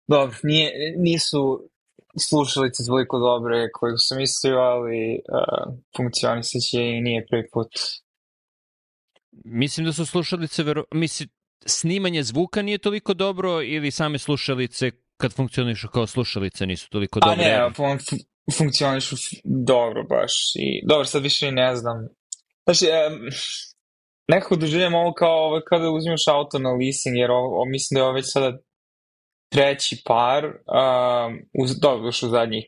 Dobro, nisu slušalice toliko dobre koje sam mislio, ali funkcionisat će i nije prvi put. Mislim da su slušalice, snimanje zvuka nije toliko dobro ili same slušalice kad funkcionišu kao slušalice nisu toliko dobre? Ne, funkcionišu dobro baš. Dobro, sad više i ne znam. Znači, nekako doživljam ovo kao kada uzmeš auto na leasing, jer mislim da je ovo već sada treći par, dobro, u zadnjih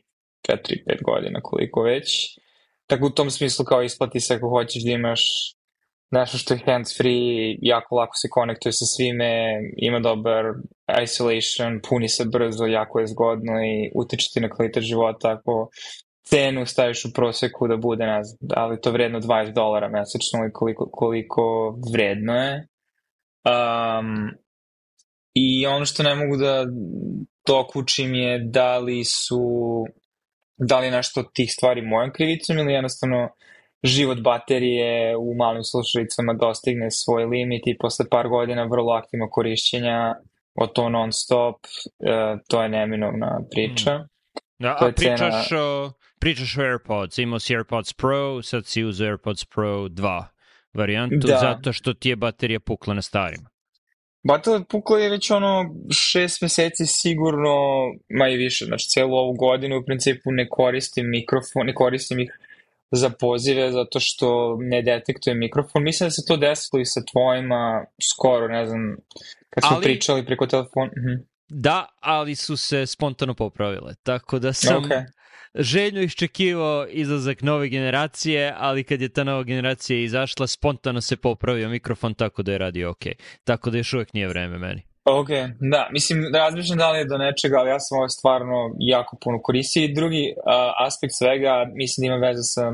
4-5 godina, koliko već. Tako u tom smislu kao isplati se ako hoćeš da imaš nešto što je hands-free, jako lako se konektuje sa svime, ima dobar isolation, puni se brzo, jako je zgodno i utiče ti na kvalitet života. Ako cenu staviš u proseku da bude, ne znam, ali to vredno $20 mesečno i koliko vredno je. I ono što ne mogu da dokučim je da li je nešto od tih stvari mojom krivicom ili jednostavno život baterije u malim slušalicama dostigne svoj limit i posle par godina vrlo aktivno korišćenja od to non stop, to je neminovna priča. Da, a pričaš o AirPods, imao si AirPods Pro, sad si uzeo AirPods Pro 2 varijantu, zato što ti je baterija pukla na starima. Baterija pukla je već 6 meseci sigurno, ma i više, znači cijelu ovu godinu u principu ne koristim mikrofon, ne koristim ih za pozive zato što ne detektuje mikrofon. Mislim da se to desilo i sa tvojima skoro, ne znam, kad smo pričali preko telefona. Da, ali su se spontano popravile, tako da sam željno iščekivao izlazak nove generacije, ali kad je ta nova generacija izašla, spontano se popravio mikrofon, tako da je radio ok. Tako da još uvijek nije vreme meni. Ok, da, mislim, razmišljam da li je do nečega, ali ja sam ovo stvarno jako puno koristio. I drugi aspekt svega, mislim da ima veze sa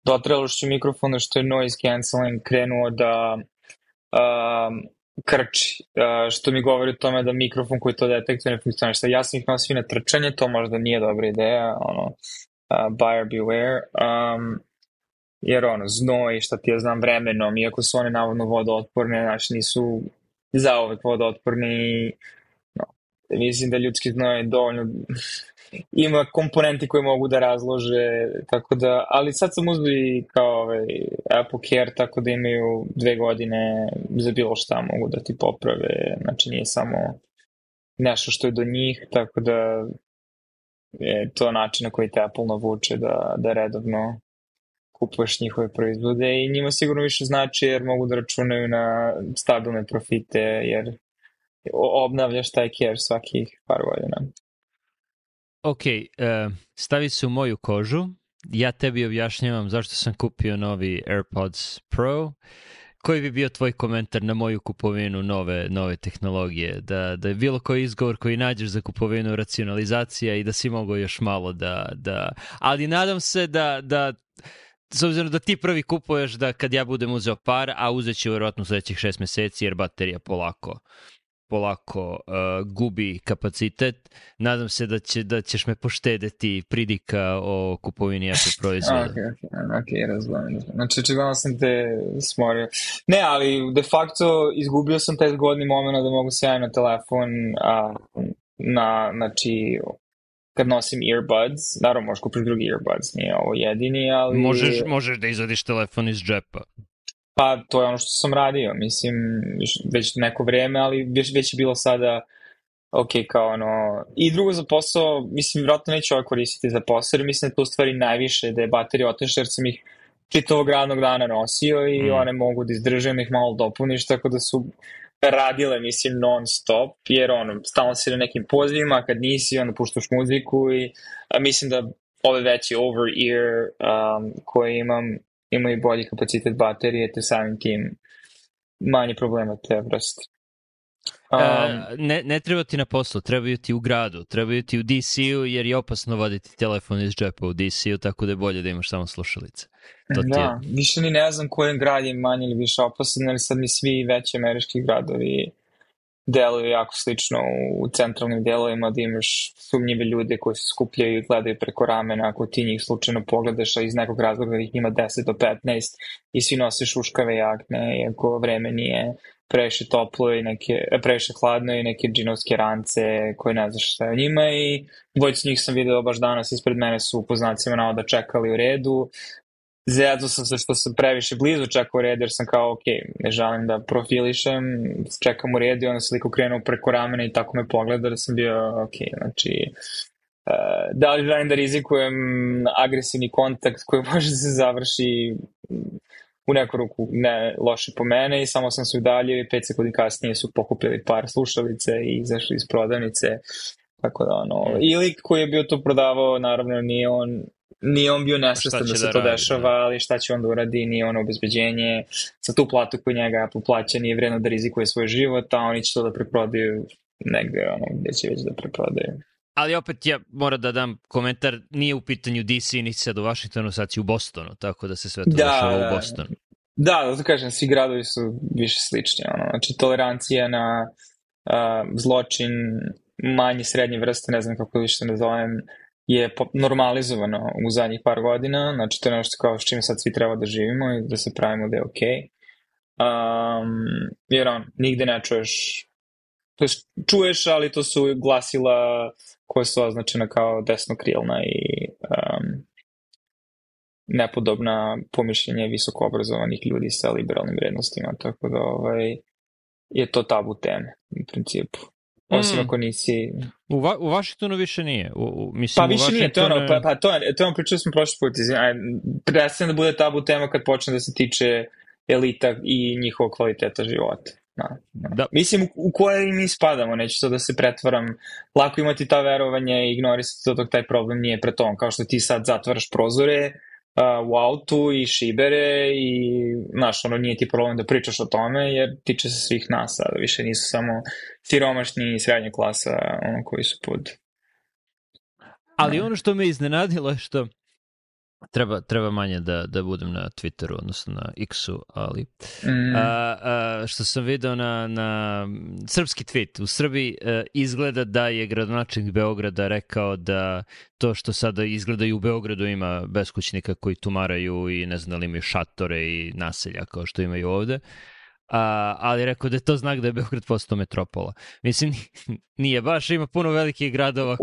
dotrajalošću mikrofona, što je noise cancelling krenuo da krči, što mi govori o tome da mikrofon koji to detektuje ne funkcioniše. Ja sam ih nosio na trčanje, to možda nije dobra ideja, buyer beware, jer znoj, šta ti ja znam, vremenom, iako su one navodno vodootporne, znači nisu zauvek vodootporni, mislim da ljudski znoj dovoljno ima komponenti koje mogu da razlože, tako da, ali sad sam uzeo i kao Apple Care, tako da imaju 2 godine za bilo šta mogu da ti poprave, znači nije samo nešto što je do njih, tako da je to način na koji te Apple navuče da redovno kupuješ njihove proizvode i njima sigurno više znači jer mogu da računaju na stabilne profite, jer obnavljaš taj Care svakih par godina. Ok, stavi se u moju kožu, ja tebi objašnjavam zašto sam kupio novi AirPods Pro. Koji bi bio tvoj komentar na moju kupovinu nove tehnologije? Da je bilo koji izgovor koji nađeš za kupovinu racionalizacija i da si mogao još malo da... Ali nadam se da s obzirom da ti prvi kupuješ, da kad ja budem uzeo par, a uzet ću vjerojatno sljedećih 6 meseci jer baterija polako gubi kapacitet. Nadam se da ćeš me poštedeti pridika o kupovini Apple proizvoda. Ok, razumem. Znači, očigledno sam te smorio. Ne, ali de facto izgubio sam taj zgodni moment da mogu sjajno telefon znači kad nosim earbuds, naravno možeš kupiti drugi earbuds, nije ovo jedini, ali... Možeš da izvadiš telefon iz džepa. Pa to je ono što sam radio, mislim, već neko vreme, ali već je bilo sada ok, kao I drugo za posao, mislim, vjerojatno neću ovo koristiti za posao, jer mislim da je to u stvari najviše, da je baterija otišla, jer sam ih čitavog radnog dana nosio i one mogu da izdržam, ih malo dopuniš, tako da su radile, mislim, non stop, jer stalno si na nekim pozivima, kad nisi, onda puštaš muziku i mislim da ove veći over-ear koje imaju bolji kapacitet baterije, te samim tim manje problema te vrste. Ne treba ti na poslu, trebaju ti u gradu, trebaju ti u DC-u, jer je opasno voditi telefon iz džepa u DC-u, tako da je bolje da imaš samo slušalice. Više ni ne znam koji grad je manje ili više opasan, ali sad mi svi veći američki gradovi deluju jako slično u centralnim delovima, da imaš sumnjive ljude koji se skupljaju i gledaju preko ramena, ako ti njih slučajno pogledaš, a iz nekog razloga ih ima 10 do 15 i svi nose šuškave jakne, iako vreme nije previše toplo i previše hladno i neke džinovske rance koje ne znaš šta je o njima i dvojicu njih sam video baš danas ispred mene su po znacima navoda čekali u redu. Zezao sam se što sam previše blizu čekao u redu jer sam kao ok, ne želim da profilišem, čekam u redu i onda se liko krenuo preko ramena i tako me pogleda da sam bio ok, znači da li želim da rizikujem agresivni kontakt koji može da se završi u neku ruku ne loše po mene i samo sam se udaljio i 5 sekundi kasnije su pokupili par slušalice i izašli iz prodavnice, tako da i lik koji je bio to prodavao, naravno nije on bio nesvestan da se to dešava, ali šta će on da uradi, nije ono obezbeđenje, sa tu platu koju njega Apple plaća nije vredno da rizikuje svoj život, a oni će to da preprodaju negde gde će već da preprodaju. Ali opet ja moram da dam komentar, nije u pitanju DC, niti sad u Washingtonu, sad si u Bostonu, tako da se sve to dešava u Bostonu. Da, to kažem, svi gradovi su više slični, znači tolerancija na zločin manje srednje vrste, ne znam kako više ne zovem, je normalizovano u zadnjih par godina, znači to je nešto kao s čime sad svi treba da živimo i da se pravimo da je okej. Jer nigde ne čuješ, to čuješ, ali to su glasila koje su označena kao desnokrilna i nepodobna pomišljenje visoko obrazovanih ljudi sa liberalnim vrednostima, tako da je to tabu teme u principu. Osim ako nisi... U Washingtonu više nije. Pa više nije, to pričali smo prošli put. Prestaje da bude tabu tema kad počne da se tiče elita i njihovog kvaliteta života. Da. Mislim, u koje mi spadamo, neću to da se pretvaram. Lako imati ta verovanja i ignorisati dok taj problem nije pred tom. Kao što ti sad zatvaraš prozore u autu i šibere i nije ti problem da pričaš o tome jer tiče se svih nas, a više nisu samo siromašni i srednja klasa koji su pod... Ali ono što me iznenadilo je što treba manje da budem na Twitteru, odnosno na X-u, ali što sam video na srpski tweet, u Srbiji izgleda da je gradonačelnik Beograda rekao da to što sada izgleda i u Beogradu ima beskućnika koji tumaraju i ne znam da li imaju šatore i naselja kao što imaju ovde, ali rekao da je to znak da je Beograd postao metropola. Mislim, nije baš, ima puno velikih gradova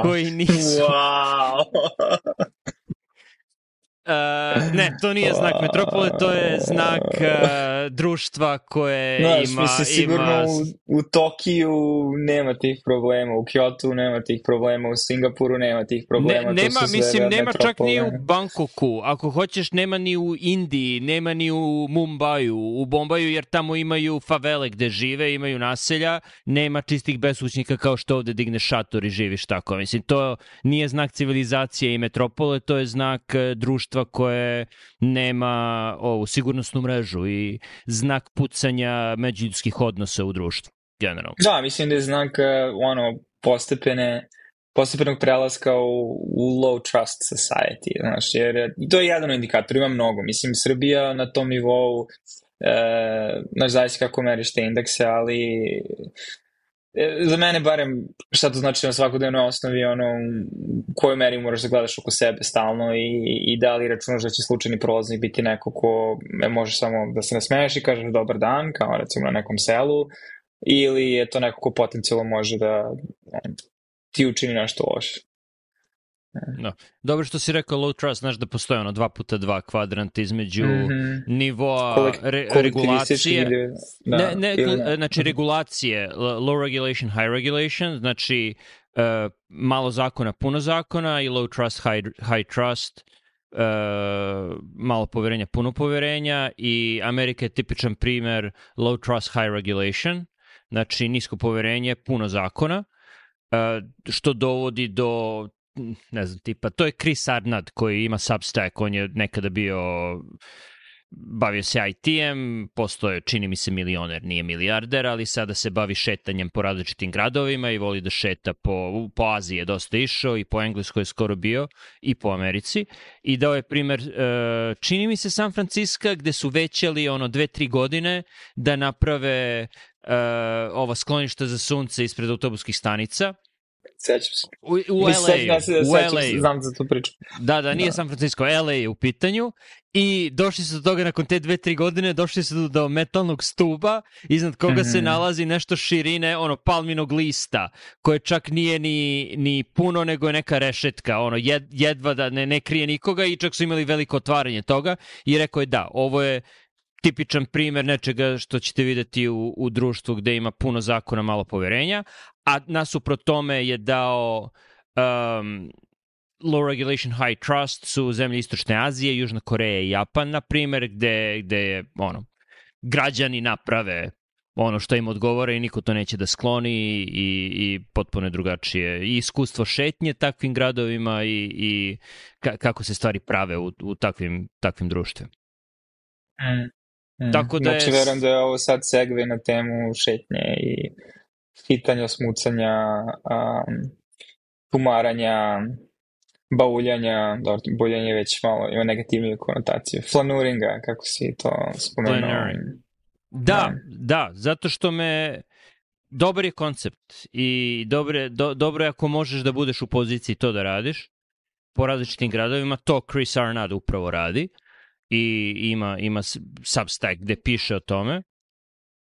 koji nisu... Ne, to nije znak metropole, to je znak društva koje ima... Sigurno u Tokiju nema tih problema, u Kyotu nema tih problema, u Singapuru nema tih problema. Nema čak ni u Bangkoku, ako hoćeš nema ni u Indiji, nema ni u Mumbaju, u Bombaju, jer tamo imaju favele gde žive, imaju naselja, nema čistih beskućnika kao što ovde digneš šator i živiš tako. Mislim, to nije znak civilizacije i metropole, to je znak društva koje nema ovu sigurnosnu mrežu i znak pucanja međuljudskih odnosa u društvu, generalno. Da, mislim da je znak postepenog prelaska u low trust society, znaš, jer to je jedan indikator, ima mnogo. Mislim, Srbija na tom nivou, zavisi kako meriš te indekse, ali za mene barem šta to znači na svakodnevnoj osnovi, u kojoj meri moraš da gledaš oko sebe stalno i da li računaš da će slučajni prolaznik biti neko ko možeš samo da se nasmeješ i kažeš dobar dan, kao recimo na nekom selu, ili je to neko ko potencijalno može da ti učini nešto loše. No. Dobro što si rekao low trust, znaš da postoje 2x2 kvadrant između nivoa regulacije, znači regulacije, low regulation, high regulation, znači malo zakona, puno zakona, i low trust, high trust, malo poverenja, puno poverenja, i Amerika je tipičan primer low trust, high regulation, znači nisko poverenje, puno zakona, što dovodi do, ne znam, tipa, to je Chris Arnott koji ima Substack, on je nekada bavio se IT-em, postoje, čini mi se, milioner, nije milijarder, ali sada se bavi šetanjem po različitim gradovima i voli da šeta po Aziji, je dosta išao, i po Engleskoj je skoro bio, i po Americi, i dao je primer, čini mi se, San Francisco, gde su većali 2-3 godine da naprave ova skloništa za sunce ispred autobuskih stanica, Sećam se. U LA-u. Znam za tu priču. Da, nije San Francisco, LA je u pitanju i došli su do toga nakon te 2-3 godine, došli su do metalnog stuba iznad koga se nalazi nešto širine palminog lista, koje čak nije ni puno, nego je neka rešetka, jedva da ne krije nikoga i čak su imali veliko otvaranje toga i rekao je da, ovo je tipičan primer nečega što ćete videti u društvu gde ima puno zakona, malo poverenja, a nasuprot tome je dao low regulation, high trust su zemlje Istočne Azije, Južna Koreja i Japan, na primer, gde je građani naprave ono što im odgovara i niko to neće da skloni i potpuno je drugačije. I iskustvo šetnje takvim gradovima i kako se stvari prave u takvim društvima. Tako da znači, verujem da je ovo sad segve na temu šetnje i hitanja, smucanja, tumaranja, bauljanja, dobro, bauljanje već malo ima negativniju konotaciju. Flanuringa, kako si to spomenuo. Da, zato što dobar je koncept i dobro je ako možeš da budeš u poziciji to da radiš po različitim gradovima, to Chris Arnad upravo radi i ima Substack gde piše o tome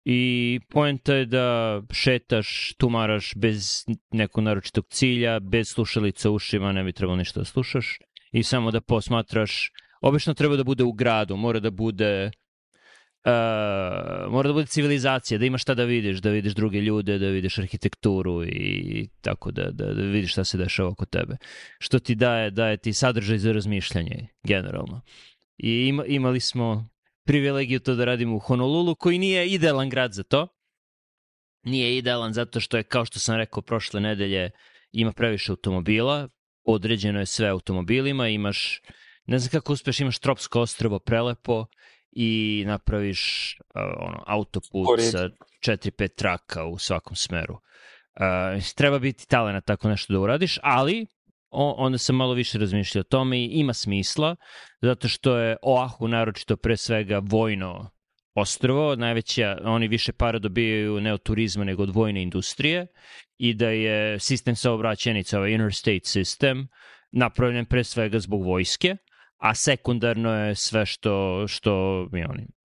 i poenta je da šetaš, tumaraš bez nekog naročitog cilja, bez slušalica u ušima, ne bi trebalo ništa da slušaš i samo da posmatraš. Obično treba da bude u gradu, mora da bude civilizacija, da imaš šta da vidiš druge ljude, da vidiš arhitekturu i tako da vidiš šta se dešava oko tebe. Što ti daje ti sadržaj za razmišljanje generalno. I imali smo privilegiju to da radimo u Honolulu, koji nije idealan grad za to. Nije idealan zato što je, kao što sam rekao prošle nedelje, ima previše automobila, određeno je sve automobilima, imaš, ne znam kako uspeš, imaš tropsko ostrvo prelepo i napraviš autoput sa 4-5 traka u svakom smeru. Treba biti talenat tako nešto da uradiš, ali onda sam malo više razmišljao o tome i ima smisla, zato što je Oahu naročito pre svega vojno ostrvo, oni više para dobijaju ne od turizma nego od vojne industrije i da je sistem saobraćajnica, ovaj interstate system, napravljen pre svega zbog vojske, a sekundarno je sve što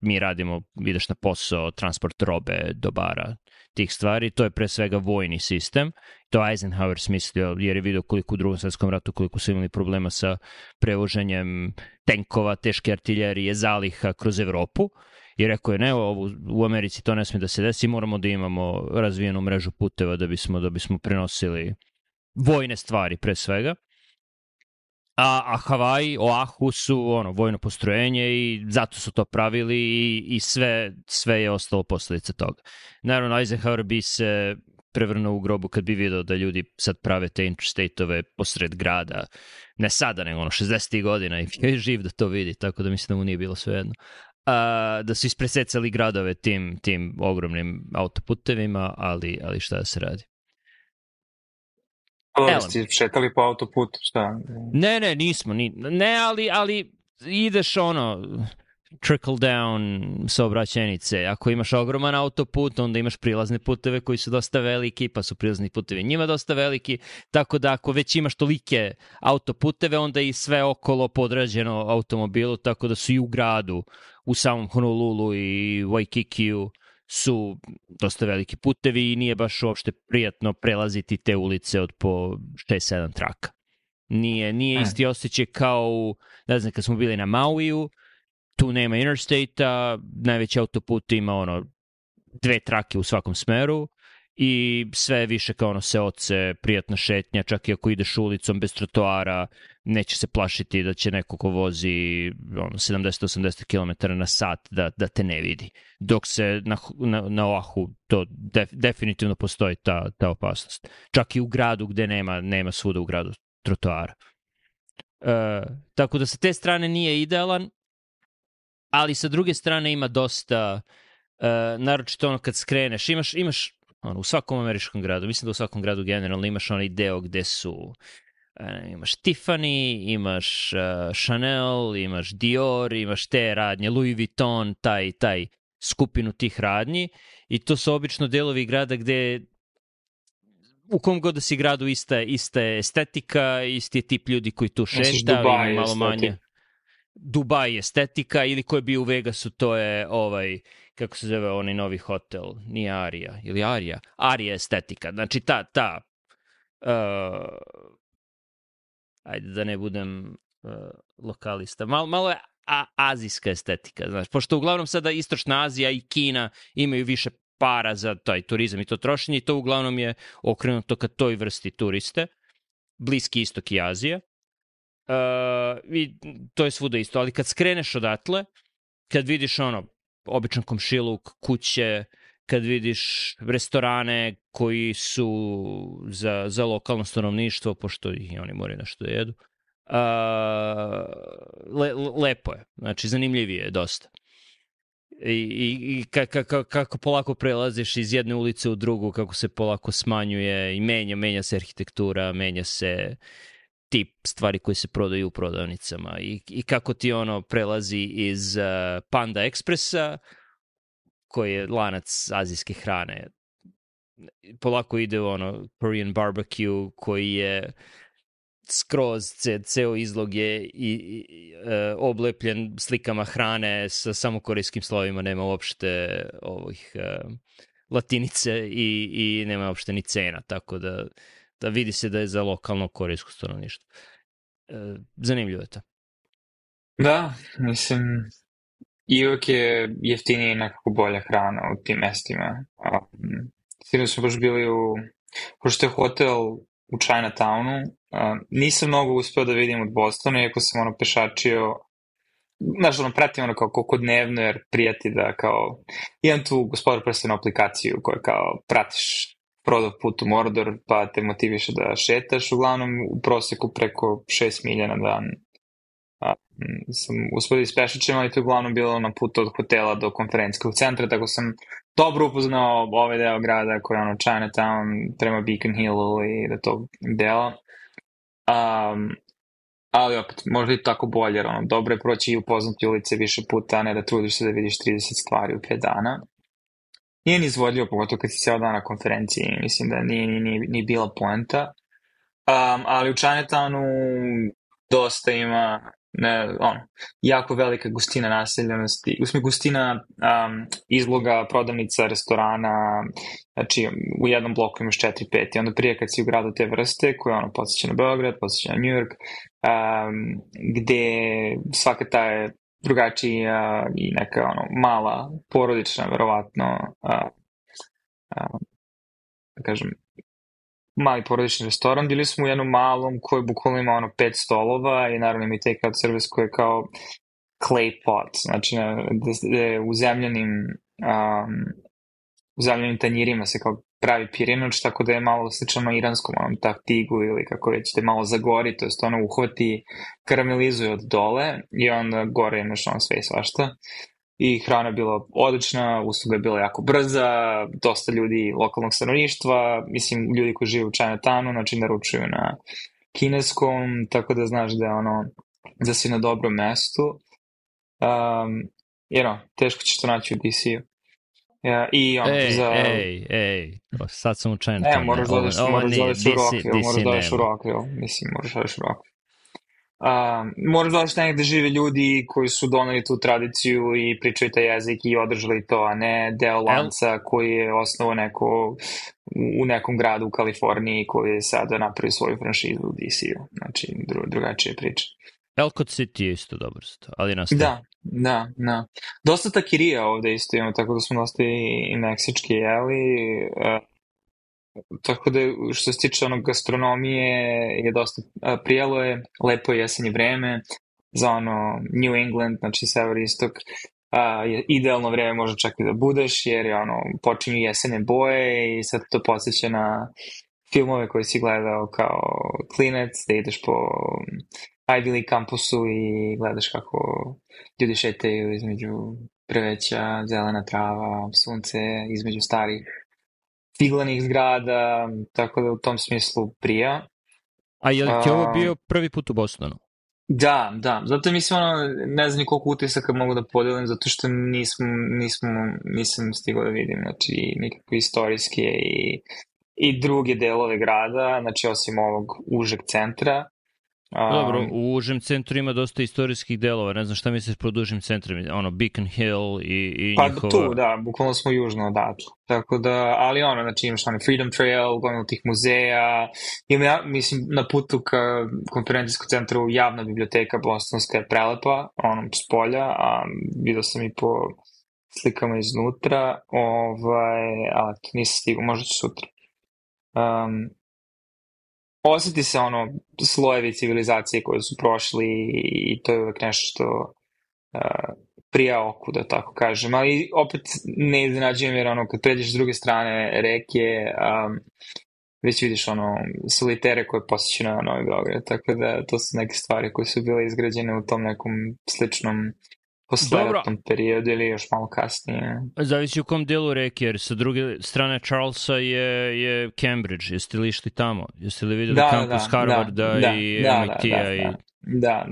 mi radimo, ideš na posao, transport robe, dobara, tih stvari, to je pre svega vojni sistem. To Eisenhower smislio jer je vidio koliko u Drugom svetskom ratu, koliko su imali problema sa prevoženjem tenkova, teške artiljerije, zaliha kroz Evropu. I rekao je, ne, u Americi to ne smije da se desi, moramo da imamo razvijenu mrežu puteva da bismo prenosili vojne stvari pre svega. A Hawaii, Oahu su vojno postrojenje i zato su to pravili i sve je ostalo posljedica toga. Naravno, Eisenhower bi se prevrnuo u grobu kad bi vidio da ljudi sad prave te interstate-ove posred grada, ne sada, nego 60. godina i je živ da to vidi, tako da mislim da mu nije bilo svejedno. Da su ispresecali gradove tim ogromnim autoputevima, ali šta da se radi. Ste šetali po autoputu, šta? Ne, nismo. Ne, ali ideš trickle down saobraćajnice. Ako imaš ogroman autoput, onda imaš prilazne puteve koji su dosta veliki, pa su prilazni putevi njima dosta veliki, tako da ako već imaš tolike autoputeve, onda i sve okolo podređeno automobilu, tako da su i u gradu, u samom Honolulu i Waikikiju su dosta veliki putevi i nije baš uopšte prijatno prelaziti te ulice od po 6-7 traka. Nije isti osjećaj kao, ne znam, kad smo bili na Mauiju, tu nema interstate-a, najveći autoput ima 2 trake u svakom smeru i sve više kao seoce, prijatna šetnja, čak i ako ideš ulicom bez trotoara, neće se plašiti da će neko ko vozi 70-80 km na sat da te ne vidi. Dok se na Oahu to definitivno postoji ta opasnost. Čak i u gradu gde nema svuda u gradu trotoara. Tako da sa te strane nije idealan, ali sa druge strane ima dosta, naročito kad skreneš, imaš u svakom američkom gradu, mislim da u svakom gradu generalno imaš onaj deo gde su imaš Tiffany, imaš Chanel, imaš Dior, imaš te radnje, Louis Vuitton, taj skupinu tih radnji i to su obično delovi grada gde u kom god da si gradu ista je estetika, isti je tip ljudi koji tu Misliš šeta, Dubai ima malo estetika? manje. Dubai estetika, ili ko je bio u Vegasu, to je kako se zove onaj novi hotel, nije Arija, ili Arija? Arija estetika, znači ta ajde da ne budem lokalista, malo je azijska estetika, znaš, pošto uglavnom sada Istočna Azija i Kina imaju više para za taj turizam i to trošenje i to uglavnom je okrenuto ka toj vrsti turiste, Bliski Istok i Azija. I to je svuda isto, ali kad skreneš odatle, kad vidiš običan komšiluk, kuće, kad vidiš restorane koji su za lokalno stanovništvo, pošto i oni moraju nešto da jedu, lepo je, znači zanimljivije je dosta. I kako polako prelaziš iz jedne ulice u drugu, kako se polako smanjuje i menja se arhitektura, menja se tip stvari koji se prodaju u prodavnicama i kako ti prelazi iz Panda Expressa, koji je lanac azijske hrane, polako ide u Korean barbecue, koji je skroz ceo izlog je oblepljen slikama hrane sa samo korejskim slovima, nema uopšte ovih latinice i nema uopšte ni cena, tako da vidi se da je za lokalno korejsko stanovništvo. Zanimljivo je to. Da, mislim, i uvijek je jeftinije i nekako bolja hrana u tim mestima. Sinoć smo baš bili pošto je hotel u Chinatownu, nisam mnogo uspeo da vidim od Bostona, iako sam pešačio, znaš, pratim kako dnevno, jer prijati da kao, imam tu Gospodar prstena aplikaciju koja kao pratiš prodov put u Mordor, pa te motiviše da šetaš, uglavnom u proseku preko 6 milja na dan. Sam uspio da ispešačem, ali to je uglavnom bilo na putu od hotela do konferencijskog centra, tako sam dobro upoznao ovaj deo grada koji je Chinatown prema Beacon Hillu i do tog dela. Ali opet, možda i tako bolje, jer dobro je proći i upoznati ulice više puta, a ne da trudiš se da vidiš 30 stvari u 5 dana. Nije ni izvodljivo, pogotovo kad si cijel dan na konferenciji, mislim da nije bila poenta. Ali u Chinatownu dosta ima jako velika gustina naseljenosti, gustina izloga, prodavnica, restorana, znači u jednom bloku imaš 4-5 i onda prije kad si u gradu te vrste koje podsjeća na Beograd, podsjeća na New York, gde svaka ta je drugačija i neka mala, porodična, verovatno, da kažem, mali porodični restoran. Bili smo u jednom malom koji bukvalno ima 5 stolova i naravno ima i take out service koji je kao clay pot, znači u zemljanim tanjirima se kao pravi pirinač, tako da je malo slično iranskom taktigu ili kako već te malo zagori, to jest uhvati, karamelizuje od dole i onda gore imaš sve i svašta. I hrana je bila odlična, usluga je bila jako brza, dosta ljudi lokalnog stanovništva, mislim ljudi koji žive u Chinatownu, znači naručuju na kineskom, tako da znaš da je da si na dobrom mestu. Teško ćeš to naći u DC-u. Sad sam u Chinatownu. Moraš da odeš u Rockville, mislim, moraš da odeš u Rockville. Moraš da odeš negde žive ljudi koji su doneli tu tradiciju i pričaju taj jezik i održali to, a ne deo lanca koji je osnovao neko u nekom gradu u Kaliforniji koji je sada napravio svoju franšizu u DC-u. Znači, drugačije priče. Elcott City je isto dobro, ali nastaje. Da. Dosta takirija ovde isto imamo, tako da smo dosta i meksički jeli. Tako da što se tiče gastronomije je dosta prijelo je, lepo je jesenje vreme za New England, znači sever istok, je idealno vreme može čak i da budeš jer je počinju jesene boje i sad to podsjeća na filmove koje si gledao kao klinac, da ideš po Ivy League kampusu i gledaš kako ljudi šetaju između drveća, zelena trava, sunce, između starih figlanih zgrada, tako da u tom smislu prija. A je li ti ovo bio prvi put u Bostonu? Da, zato mislim, ne znam ni koliko utisaka mogu da podelim, zato što nisam stigao da vidim, znači nikakve istorijske i i druge delove grada, znači osim ovog užeg centra. Dobro, u užem centru ima dosta istorijskih delova, ne znam šta misliš pod užim centrom, ono Beacon Hill i Pa njihova... tu, da, bukvalno smo južno odatle. Tako da, ali znači imaš onaj Freedom Trail, gomilu tih muzeja, mislim, na putu ka konferencijskom centru javna biblioteka bostonska je prelepa, s polja, a vidio sam i po slikama iznutra, a to nisam stigao, možda ću sutra. Osjeti se slojevi civilizacije koje su prošli i to je uvek nešto što prija oku, da tako kažem, ali opet ne iznenađujem jer kad pređeš s druge strane reke, već vidiš solitere koje posjeću na Novi Beograd, tako da to su neke stvari koje su bile izgrađene u tom nekom sličnom posleratnom periodu ili još malo kasnije. Zavisi u kom delu reke, jer sa druge strane Charlesa je Cambridge. Jeste li išli tamo? Jeste li videli kampus Harvarda i MIT-a? Da.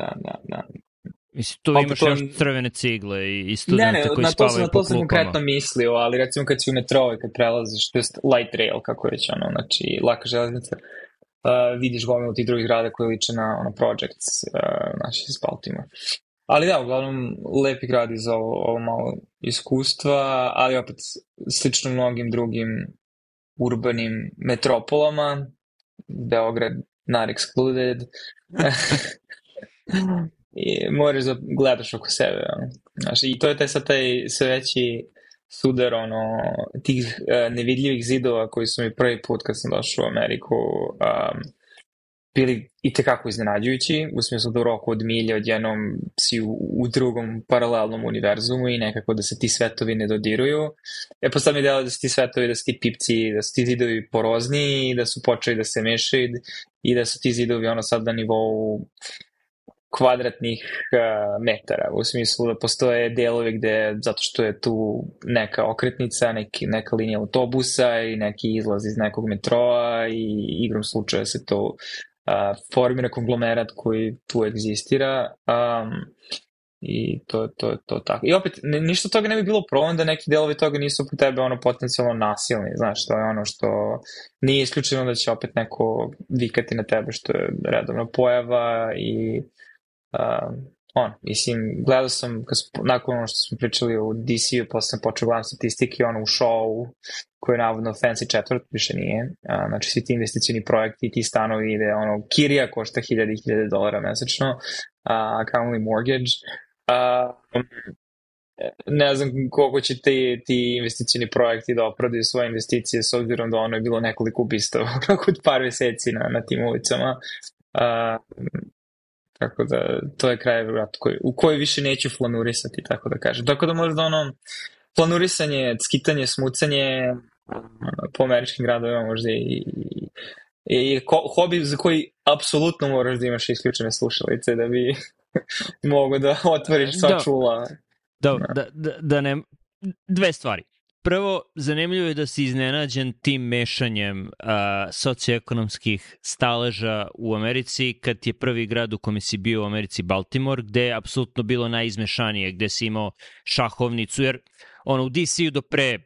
Mislim, tu imaš još crvene cigle i studente koji spavaju po klupama. Na to sam konkretno mislio, ali recimo kad si u metro i kad prelaziš, to je light rail, kako reći, znači laka železnica, vidiš gomilu tih drugih grada koji liče na projects naši iz Baltimore. Ali da, uglavnom, lepi grad iz ovo malo iskustva, ali opet slično mnogim drugim urbanim metropolama, Beograd not excluded, i moraš da gledaš oko sebe. Znaš, i to je taj sve veći sudar tih nevidljivih zidova koji su mi prvi put kad sam došao u Ameriku bili itekako iznenađujući, u smislu da u roku od milje odjednom si u drugom paralelnom univerzumu i nekako da se ti svetovi ne dodiruju. Pa sad mi delo da su ti svetovi, da su ti pipci, da su ti zidovi porozniji i da su počeli da se mešaju i da su ti zidovi sad na nivou kvadratnih metara, u smislu da postoje delovi gde, zato što je tu neka okretnica, neka linija autobusa i neki izlaz iz nekog metroa i igrom slučaja se to formira konglomerat koji tu egzistira i to je tako. I opet, ništa toga ne bi bilo problem da neki delovi toga nisu po tebe potencijalno nasilni, znaš, to je što nije isključeno da će opet neko vikati na tebe, što je redovna pojava i mislim, gledao sam nakon što smo pričali o DC-u, posle sam počeo gledam statistike u show koji je navodno fancy četvrt, više nije, znači svi ti investicioni projekti i ti stanovi ide kirija košta $1,000 mesečno, kamoli mortgage, ne znam koliko će ti investicioni projekti da opravdaju svoje investicije s obzirom da je bilo nekoliko ubistava kod par meseci na tim ulicama. Tako da, to je kraj u kojoj više neću flanurisati, tako da kažem. Tako da možda flanurisanje, skitanje, smucanje po američkim gradovima možda i hobi za koji apsolutno moraš da imaš isključene slušalice da bi mogo da otvoriš sva čula. Da ne... Dve stvari. Prvo, zanimljivo je da si iznenađen tim mešanjem socioekonomskih staleža u Americi, kad je prvi grad u kome si bio u Americi Baltimore, gde je apsolutno bilo najizmešanije, gde si imao šahovnicu, jer u DC-u do pre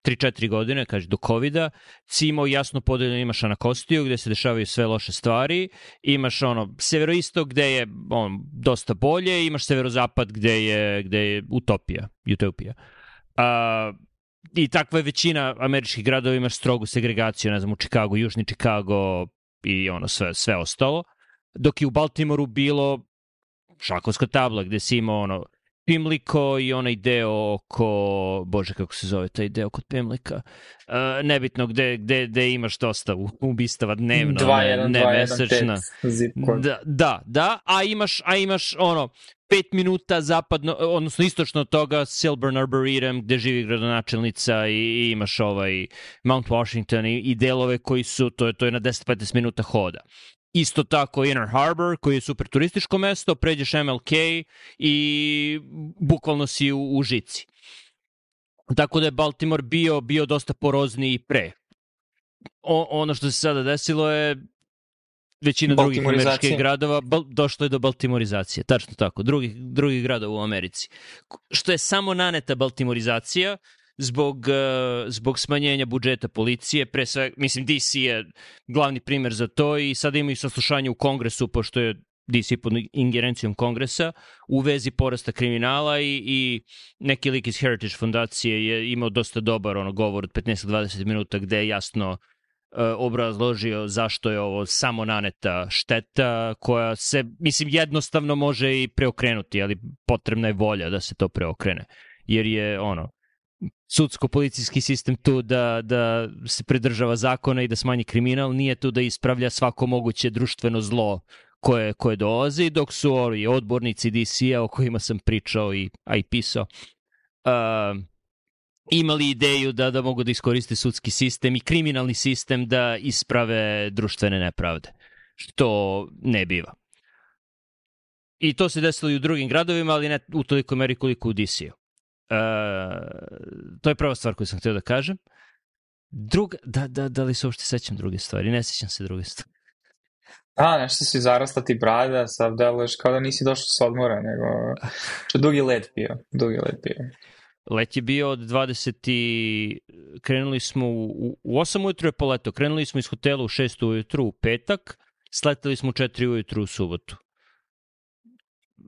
3-4 godine, kaže do COVID-a, si imao jasno podeljeno, imaš Anakostiju gde se dešavaju sve loše stvari, imaš severoistok gde je dosta bolje, imaš severozapad gde je utopija. I takva je većina američkih gradova, imaš strogu segregaciju, ne znam, u Chicago, južni Chicago i sve ostalo, dok je u Baltimoru bilo šahovska tabla gde si imao Pimliko i onaj deo oko, bože kako se zove taj deo kod Pimlika, nebitno gde imaš dosta ubistava dnevno, ne mesečna. Da, a imaš 5 minuta zapadno, odnosno istočno od toga Silburn Arboretum gde živi gradonačelnica i imaš Mount Washington i delove koji su, to je na 10-15 minuta hoda. Isto tako Inner Harbor, koji je super turističko mesto, pređeš MLK i bukvalno si u žici. Tako da je Baltimore bio dosta porozniji i pre. Ono što se sada desilo je većina drugih američkih gradova došlo je do baltimorizacije. Tačno tako, drugih gradova u Americi. Što je samo naneta baltimorizacija, zbog smanjenja budžeta policije, pre sve, mislim DC je glavni primer za to i sada imaju saslušanje u Kongresu, pošto je DC pod ingerencijom Kongresa, u vezi porasta kriminala i neki lik iz Heritage fondacije je imao dosta dobar govor od 15-20 minuta gde je jasno obrazložio zašto je ovo samo naneta šteta koja se, mislim, jednostavno može i preokrenuti, ali potrebna je volja da se to preokrene. Jer je sudsko-policijski sistem tu da se pridržava zakona i da smanji kriminal, nije tu da ispravlja svako moguće društveno zlo koje dolazi, dok su ovi odbornici DC-a o kojima sam pričao i pisao imali ideju da mogu da iskoriste sudski sistem i kriminalni sistem da isprave društvene nepravde, što ne biva. I to se desilo i u drugim gradovima, ali ne u toliko meri koliko u DC-u. To je prva stvar koju sam htio da kažem. Druga, da li se uopšte sećam druge stvari? Ne sećam se druge stvari. Nešto si zarasla ti brada, sad deluješ kao da nisi došao s odmora, nego što dugi let bio. Let je bio od 20. Krenuli smo u 8 ujutru je poleto. Krenuli smo iz hotela u 6 ujutru u petak, sleteli smo u 4 ujutru u subotu.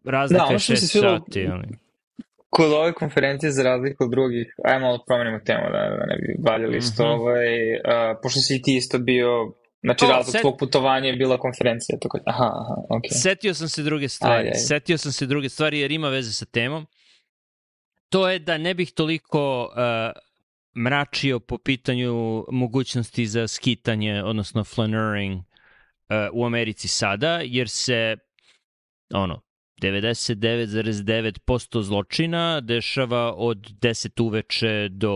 Razlika je 6 sati. Kod ove konferencije, za razliku od drugih, ajmo malo promenimo temu da ne bi valjali isto, pošto si ti isto bio, znači razlog tvog putovanja je bila konferencija. Okay. Setio sam se druge stvari jer ima veze sa temom. To je da ne bih toliko mračio po pitanju mogućnosti za skitanje, odnosno flaneuring u Americi sada, jer se 99,9% zločina dešava od 10 uveče do,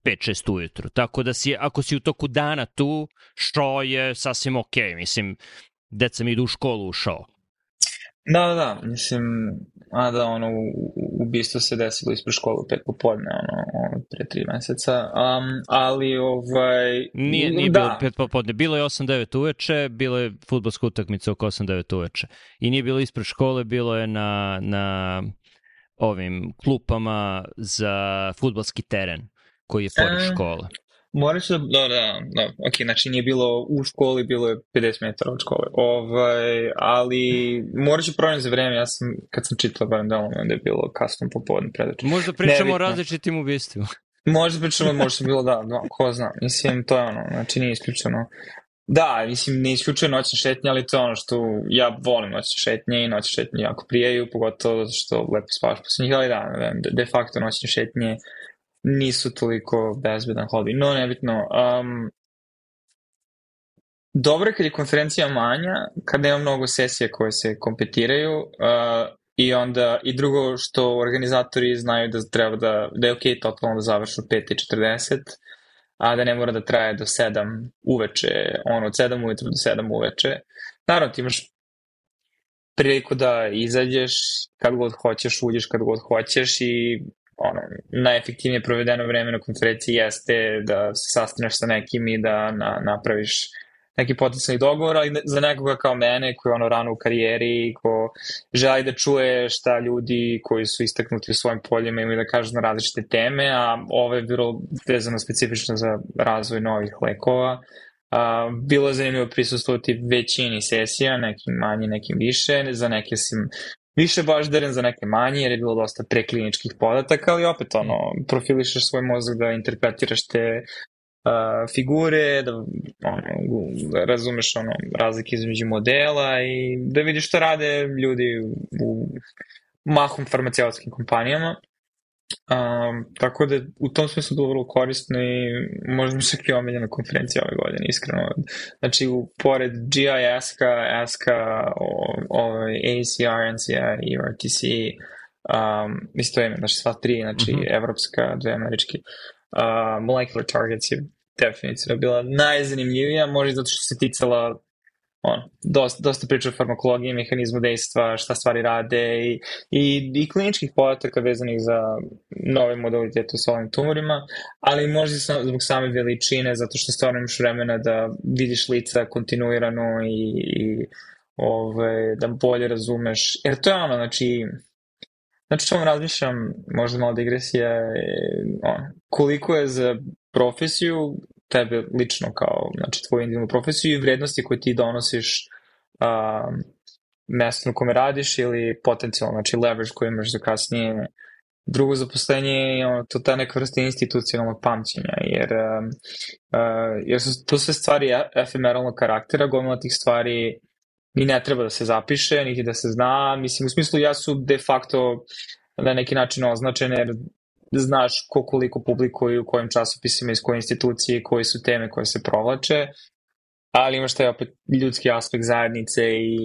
5-6 ujutru. Tako da ako si u toku dana tu, što je sasvim okej. Mislim, deca mi idu u školu u šou. Da, mislim, ubistvo se desilo ispred škole u 5 popodne, pre 3 meseca, ali Nije bilo 5 popodne, bilo je 8-9 uveče, bilo je fudbalska utakmica oko 8-9 uveče. I nije bilo ispred škole, bilo je na ovim klupama za fudbalski teren koji je pored škole. Moraš da, ok, znači nije bilo u školi, bilo je 50 metara od škole, ali moraš da promijem za vreme, kad sam čitala barem da je bilo kasno popodne predače. Možda pričamo o različitim ubistvima. Možda je bilo ko zna, mislim, to je znači nije isključeno. Da, mislim, ne isključuje noćne šetnje, ali to je što ja volim noćne šetnje i noćne šetnje jako prijaju, pogotovo zato što lepo spavaš posle njih, ali de facto noćne šetnje nisu toliko bezbedan hobi. No, nebitno. Dobro je kad je konferencija manja, kad nema mnogo sesija koje se kompetiraju i drugo što organizatori znaju da treba da je okej totalno da završu 5:40, a da ne mora da traje do 7 uveče, od 7 ujutru do 7 uveče. Naravno, ti imaš priliku da izađeš kad god hoćeš, uđeš kad god hoćeš i najefektivnije provedeno vreme na konferenciji jeste da se sastaneš sa nekim i da napraviš neki potencijalni dogovor, ali za nekoga kao mene koji je rano u karijeri, ko želi da čuje šta ljudi koji su istaknuti u svojim poljima imaju da kažu na različite teme, a ovo je bilo vezano specifično za razvoj novih lekova. Bilo je zanimljivo prisustvovati većini sesija, nekim manje, nekim više, za neke sam više baždaren, za neke manje, jer je bilo dosta prekliničkih podataka, ali opet profilišeš svoj mozak da interpretiraš te figure, da razumeš razlike između modela i da vidiš šta rade ljudi u mahom farmaceutskim kompanijama. Tako da u tom smislu bilo vrlo korisno i možda mi čak i omiljena konferencija ove godine, iskreno. Znači, pored GIS-ka, ESK-a, ACR, NCA i RTC, isto ime, znači sva tri, znači evropska, dve američki, Molecular Targets je definitivno bila najzanimljivija, možda zato što se ticala dosta priča o farmakologiji, mehanizmu dejstva, šta stvari rade i kliničkih podataka vezanih za nove modalitete u solidnim tumorima, ali možda zbog same veličine, zato što stvarno imaš vremena da vidiš lica kontinuirano i da bolje razumeš. Jer to je znači Znači, što razmišljam, možda malo digresija, koliko je za profesiju, tebe lično kao, znači, tvoju individualnu profesiju i vrednosti koje ti donosiš mesto na kome radiš ili potencijalno, znači, leverage koji imaš za kasnije drugo zaposlenje je to ta neka vrsta institucionalnog pamćenja, jer su to sve stvari efemeralnog karaktera, gomila tih stvari ni ne treba da se zapiše, niti da se zna, mislim, u smislu ja su de facto na neki način označene, jer znaš koliko publikuju, u kojim časopisima, iz koje institucije, koje su teme koje se provlače, ali imaš taj opet ljudski aspekt zajednice i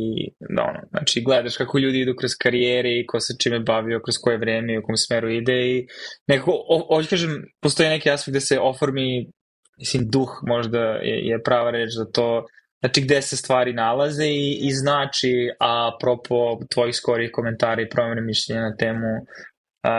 znači gledaš kako ljudi idu kroz karijere i ko se čime bavio, kroz koje vreme i u kom smeru ide i nekako, hoću kažem, postoji neki aspekt gde se oformi, mislim, duh možda je prava reč za to, znači gde se stvari nalaze i znači, apropo tvojih skorih komentara i promjene mišljenja na temu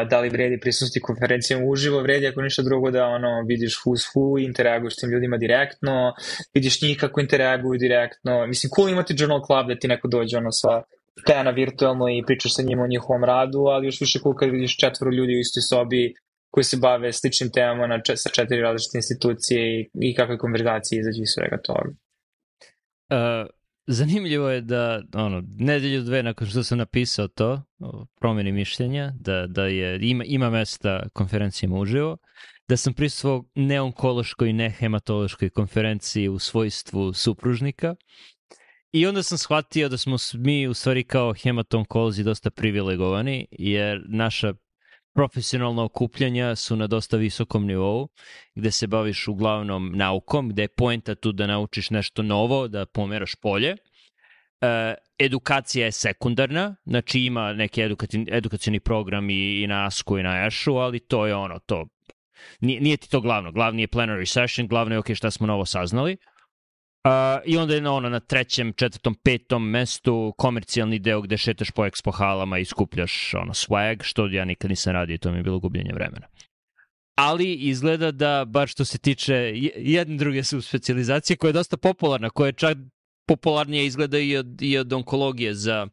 da li vredi prisustiti konferencijama uživo, vredi ako ništa drugo da vidiš who's who, interaguješ s tim ljudima direktno, vidiš njih kako interaguju direktno, mislim, cool imati journal club da ti neko dođe sa stena virtualno i pričaš sa njima o njihovom radu, ali još više cool kad vidiš 4 ljudi u istoj sobi koji se bave sličnim temama sa 4 različite institucije i kakve konverzacije izađe iz svega toga. Zanimljivo je da nedelju dve nakon što sam napisao to o promjeni mišljenja, da ima mesta konferencijama uživo, da sam prisustvovao neonkološkoj i nehematološkoj konferenciji u svojstvu supružnika i onda sam shvatio da smo mi u stvari kao hematonkolozi dosta privilegovani, jer naša profesionalna okupljanja su na dosta visokom nivou, gde se baviš uglavnom naukom, gde je poenta tu da naučiš nešto novo, da pomeraš polje. Edukacija je sekundarna, znači ima neki edukacioni program i na ASK-u i na EŠU, ali to je to. Nije ti to glavno. Glavni je plenary session, glavno je šta smo novo saznali. I onda je na 3., 4., 5. mestu komercijalni deo gde šetaš po expo halama i skupljaš swag, što ja nikad nisam radio, to mi je bilo gubljenje vremena. Ali izgleda da, bar što se tiče jedne druge subspecializacije, koja je dosta popularna, koja je čak popularnije izgleda i od onkologije za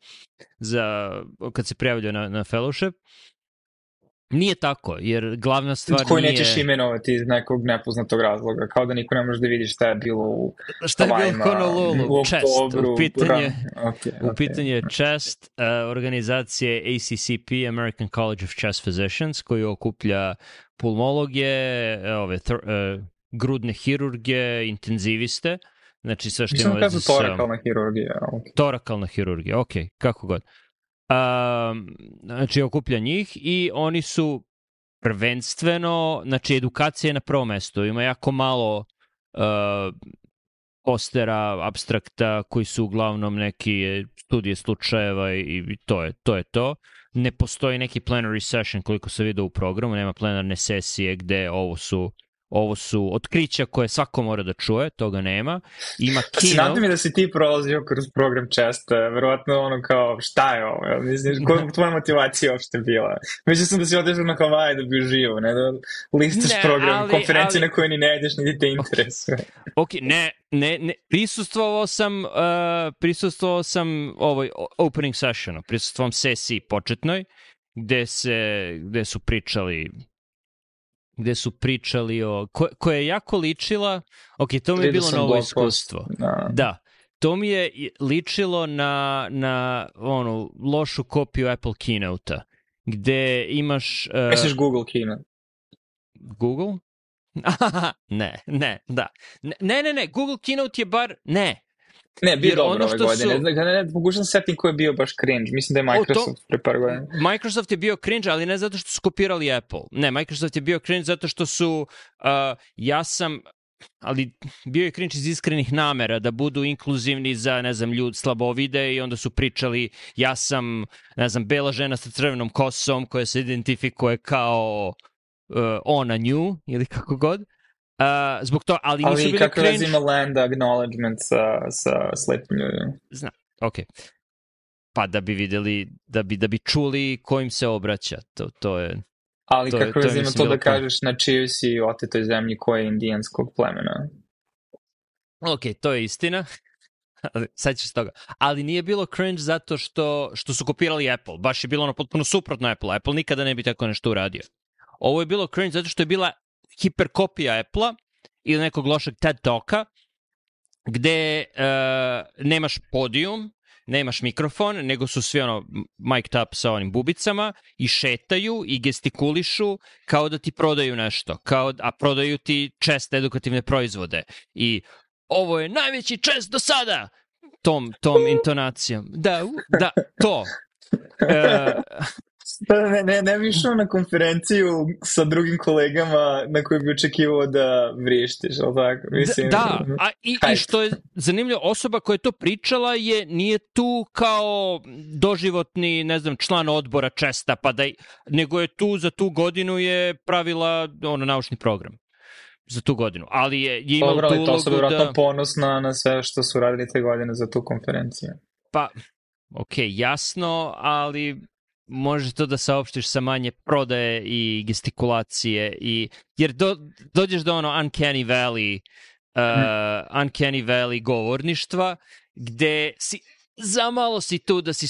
kad se prijavljaju na fellowship. Nije tako, jer glavna stvar koji nije... Koji nećeš imenovati iz nekog nepoznatog razloga, kao da niko ne može da vidi šta je bilo u Honolulu, Chest, u pitanju je Chest, organizacije ACCP, American College of Chest Physicians, koji okuplja pulmologe, grudne hirurge, intenziviste, znači sve što ima veze sa... Torakalna hirurgija. Okay. Torakalna hirurgija, ok, kako god. Znači okuplja njih i oni su prvenstveno, znači edukacija je na prvom mestu, ima jako malo postera, abstrakta koji su uglavnom neki studije slučajeva i to je to. Ne postoji neki plenary session koliko se vidio u programu, nema plenarne sesije gde ovo su otkrića koje svako mora da čuje, toga nema. Ima keynote. Nadam mi da si ti prolazio kroz program Chesta, verovatno kao šta je ovo, mislim, koja tvoja motivacija uopšte bila? Mislim sam da si odešao na Havaje da bi uživo, ne da listaš program, konferencije na koje ni ne ideš, niti te interesuje. Ok, ne, prisustvovao sam ovoj opening sessionu, prisustvovao sesiji početnoj, gde su pričali koja je jako ličila, ok, to mi je bilo novo iskustvo. Da, to mi je ličilo na lošu kopiju Apple Keynote-a, gde imaš... Misliš Google Keynote? Google? Ne, Google Keynote je bar... Ne, bio dobro ove godine. Ne, pokušam se setim ko je bio baš cringe. Mislim da je Microsoft pre par godina. Microsoft je bio cringe, ali ne zato što su kopirali Apple. Ne, Microsoft je bio cringe zato što su... ali bio je cringe iz iskrenih namera da budu inkluzivni za, ljud slabovide i onda su pričali ja sam, bela žena sa crvenom kosom koja se identifikuje kao ona nju ili kako god. Zbog to, ali nisu bili kako razima land acknowledgement sa slepim ljudima? Znam, ok. Pa da bi videli, da bi čuli ko im se obraća, to je... Ali kako razima to da kažeš na čijoj si otetoj zemlji koje je indijanskog plemena? Ok, to je istina. Sad ćeš toga. Ali nije bilo cringe zato što su kopirali Apple. Baš je bilo ono potpuno suprotno Apple. Apple nikada ne bi tako nešto uradio. Ovo je bilo cringe zato što je bila hiperkopija Apple-a ili nekog lošeg TED Talka gde nemaš podijum, nemaš mikrofon, nego su svi ono mic'd up sa onim bubicama i šetaju i gestikulišu kao da ti prodaju nešto, a prodaju ti čest edukativne proizvode. I ovo je najveći čest do sada! Tom intonacijom. Da, to. Ne bi išao na konferenciju sa drugim kolegama na kojoj bi očekivao da vrištiš, ali tako? Mislim, i što je zanimljivo, osoba koja je to pričala nije tu kao doživotni, ne znam, član odbora česta, nego je tu za tu godinu je pravila naučni program. Za tu godinu, ali je imao tu ulogu da... To su vjerojatno ponosna na sve što su radili te godine za tu konferenciju. Pa, jasno, ali može to da saopštiš sa manje prodaje i gestikulacije, jer dođeš do Uncanny Valley govorništva, gde si zamalo si tu da si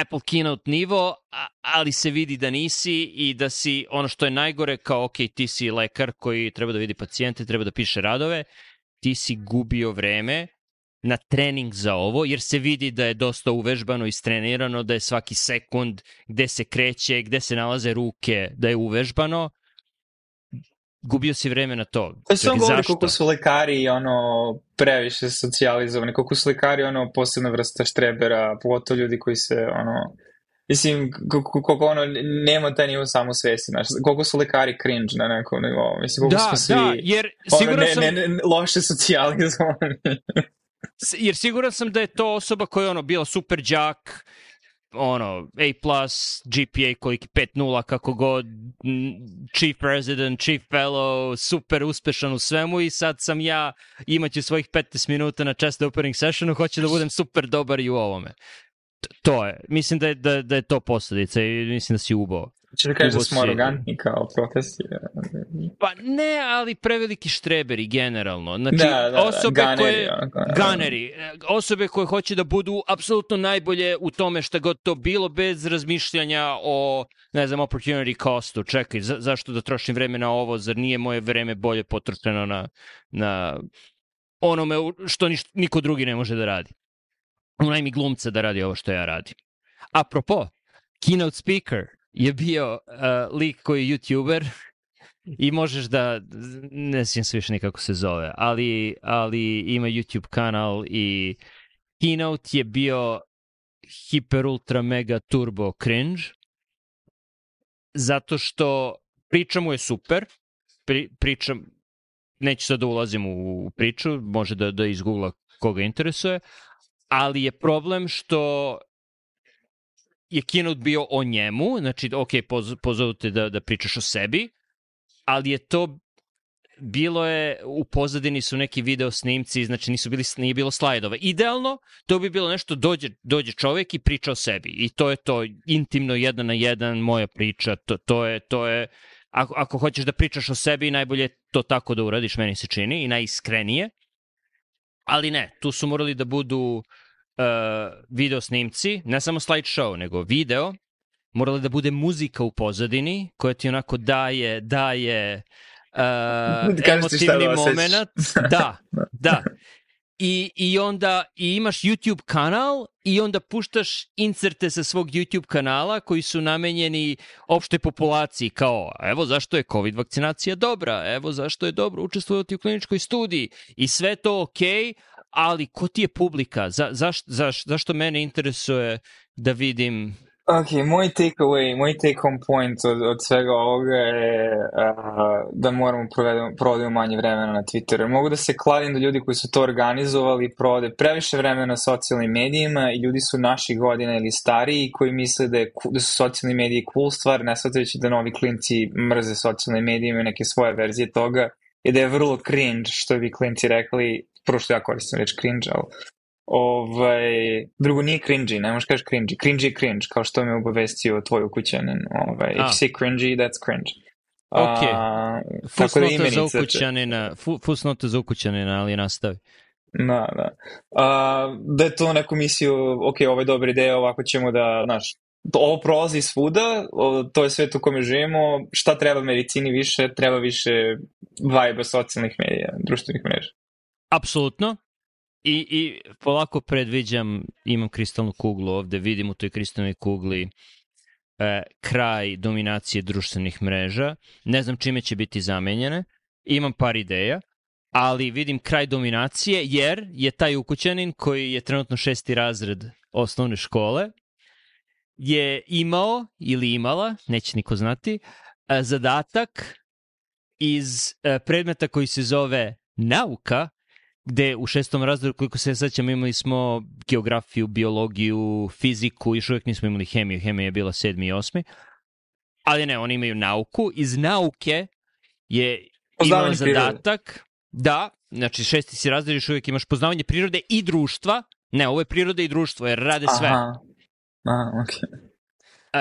Apple keynote nivo, ali se vidi da nisi i da si ono što je najgore kao ti si lekar koji treba da vidi pacijente, treba da piše radove, ti si gubio vreme na trening za ovo, jer se vidi da je dosta uvežbano i istrenirano, da je svaki sekund gde se kreće, gde se nalaze ruke, da je uvežbano. Gubio si vreme na to. To se govori koliko su lekari previše socijalizovani, koliko su lekari posebna vrsta štrebera, pogotovo ljudi koji se mislim, koliko nema taj nivo samosvesti, koliko su lekari cringe na nekom nivou. Mislim, koliko smo svi jer siguran sam... loše socijalizovani. Jer siguran sam da je to osoba koja je bila super đak, A+, GPA koliki 5.0, kako god, chief president, chief fellow, super uspešan u svemu i sad sam ja, imaću svojih 15 minuta na chest opening sessionu, hoću da budem super dobar i u ovome. To je. Mislim da je to posledica i mislim da si ubao. Če da kažeš da smo arogantni kao protesti? Pa ne, ali preveliki štreberi generalno. Znači, osobe koje hoće da budu apsolutno najbolje u tome šta god to bilo, bez razmišljanja o, ne znam, opportunity costu. Čekaj, zašto da trošim vreme na ovo, zar nije moje vreme bolje potrošeno na onome što niko drugi ne može da radi. Unajmi glumca da radi ovo što ja radim. Apropo, keynote speaker je bio lik koji je YouTuber i možeš da, ne sjećam se više nikako se zove, ali ima YouTube kanal i keynote je bio hiper ultra mega turbo cringe zato što priča mu je super, neću sad da ulazim u priču, može da izgoogla koga interesuje, ali je problem što je keynote bio o njemu, znači, pozovu te da pričaš o sebi, ali je to bilo je, u pozadini su neki video snimci, znači nije bilo slajdova. Idealno, to bi bilo nešto, dođe čovjek i priča o sebi. I to je to, intimno, 1 na 1, moja priča, to je, ako hoćeš da pričaš o sebi, najbolje to tako da uradiš, meni se čini, i najiskrenije. Ali ne, tu su morali da budu video snimci, ne samo slideshow, nego video, morala da bude muzika u pozadini, koja ti onako daje emotivni moment. Da. I onda imaš YouTube kanal i onda puštaš inserte sa svog YouTube kanala koji su namenjeni opštoj populaciji, kao evo zašto je COVID vakcinacija dobra, evo zašto je dobro učestvovati u kliničkoj studiji i sve to okej, ali ko ti je publika? Zašto mene interesuje da vidim... Ok, moj take home point od svega ovoga je da moramo provodimo manje vremena na Twitteru. Mogu da se kladim da ljudi koji su to organizovali provode previše vremena na socijalnim medijima i ljudi su naših godina ili stariji koji misle da su socijalni mediji cool stvar, ne shvatajući da novi klinci mrze socijalne medije, imaju neke svoje verzije toga i da je vrlo cringe, što bi klinci rekli, prvo što ja koristim reč cringe, ali drugo nije cringy, ne možeš kažeš cringy. Cringy je cringe, kao što me obavestio tvoj ukućanin. If you say cringy, that's cringe. Ok. Fusnota za ukućanina, ali nastavi. Da. Da je to neku misiju, ok, ovo je dobra ideja, ovako ćemo da, znaš, ovo prolazi svuda, to je svet u kome živimo, šta treba medicini više, treba više vibe socijalnih medija, društvenih mreža. Apsolutno. I polako predviđam, imam kristalnu kuglu ovde, vidim u toj kristalnoj kugli kraj dominacije društvenih mreža. Ne znam čime će biti zamenjene. Imam par ideja, ali vidim kraj dominacije jer je taj ukućanin koji je trenutno 6. razred osnovne škole je imao ili imala, neće niko znati, zadatak iz predmeta koji se zove nauka, gde u 6. razredu, koliko se sećam, imali smo geografiju, biologiju, fiziku, još uvijek nismo imali hemiju, hemija je bila 7. i 8. Ali ne, oni imaju nauku. Iz nauke je imao zadatak da, znači 6. si razred, još uvijek imaš poznavanje prirode i društva. Ne, ovo je priroda i društvo, jer rade sve. Aha, okej.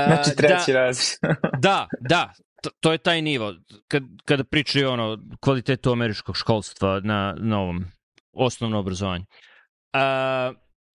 Znači 3. razred. Da, to je taj nivo. Kada pričaju kvalitetu američkog školstva na ovom osnovnom obrazovanju.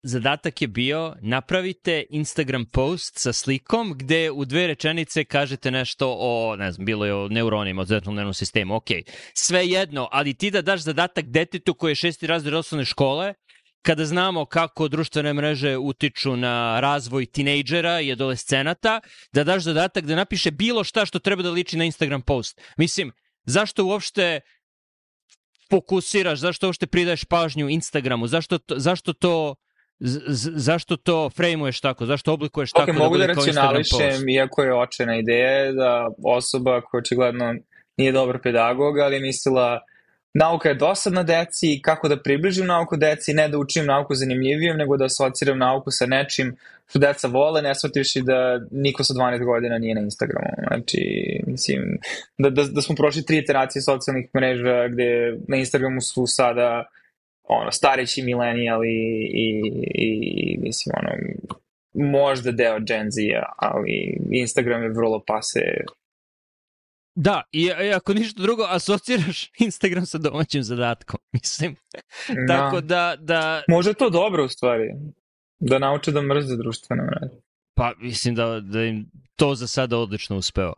Zadatak je bio napravite Instagram post sa slikom gde u 2 rečenice kažete nešto o, ne znam, bilo je o neuronima, o centralnom nervnom sistemu, ok. Sve jedno, ali ti da daš zadatak detetu koji je 6. razred osnovne škole, kada znamo kako društvene mreže utiču na razvoj tinejdžera i adolescenata, da daš zadatak da napiše bilo šta što treba da liči na Instagram post. Mislim, zašto uopšte fokusiraš, zašto uopšte pridaješ pažnju Instagramu, zašto to frejmuješ tako, zašto oblikuješ tako da bude kao Instagram post? Mogu da racionališem, iako je očena ideja da osoba koja očigledno nije dobar pedagog, ali je mislila nauka je dosadna deci, kako da približim nauku deci, ne da učim nauku zanimljivijom, nego da asociram nauku sa nečim što deca vole, ne shvativši da niko sa 12 godina nije na Instagramu. Znači, mislim, da smo prošli 3 iteracije socijalnih mreža gde na Instagramu su sada stareći milenijali i mislim, možda deo Gen Z-a, ali Instagram je vrlo pase. Da, i ako ništa drugo, asociraš Instagram sa domaćim zadatkom, mislim. Tako da... Možda je to dobro, u stvari, da nauče da mrze društvene mreže. Pa, mislim da im to za sada odlično uspeo.